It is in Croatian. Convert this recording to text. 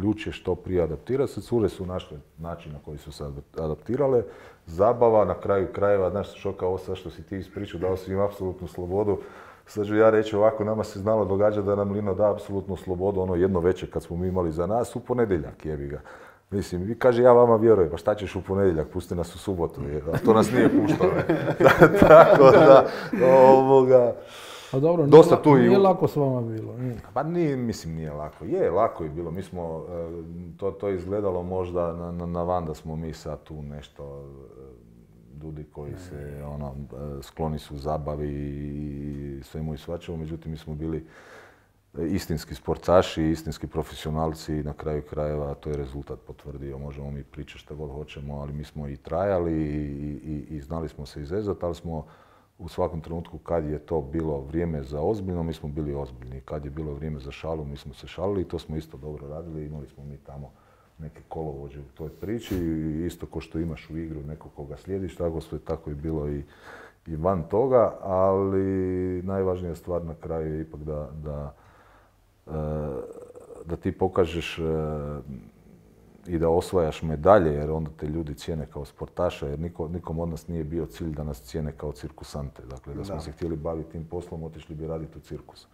ključ je što prije adaptirati se. Cure su našle način na koji su se adaptirale. Zabava, na kraju krajeva, znaš Šoka, ovo sve što si ti ispričao, dao si im apsolutnu slobodu. Sad ću ja reći ovako, nama se znalo događa da nam Lino da apsolutnu slobodu, ono jedno večer kad smo mi imali za nas, u ponedjeljak, jebi ga. Mislim, vi kaže, ja vama vjerujem, pa šta ćeš u ponedjeljak, pusti nas u subotu, a to nas nije puštao. Tako da, A dobro, dosta tu nije lako s vama bilo. Pa nije lako. Je, lako je bilo. Mi smo, to je izgledalo možda na van da smo mi sad tu nešto ljudi koji se skloni su zabavi i svemu i svačemu. Međutim, mi smo bili istinski sportaši, istinski profesionalci i na kraju krajeva to je rezultat potvrdio. Možemo mi pričati što god hoćemo, ali mi smo i trajali i znali smo se izezati, ali smo u svakom trenutku kad je to bilo vrijeme za ozbiljno, mi smo bili ozbiljni. Kad je bilo vrijeme za šalu, mi smo se šalili i to smo isto dobro radili. Imali smo mi tamo neke kolovođe u toj priči, isto ko što imaš u igru nekog koga slijediš, tako je bilo i van toga, ali najvažnija stvar na kraju je ipak da ti pokažeš i da osvajaš medalje, jer onda te ljudi cijene kao sportaša, jer nikom od nas nije bio cilj da nas cijene kao cirkusante. Dakle, da smo se htjeli baviti tim poslom, otišli bi raditi u cirkus.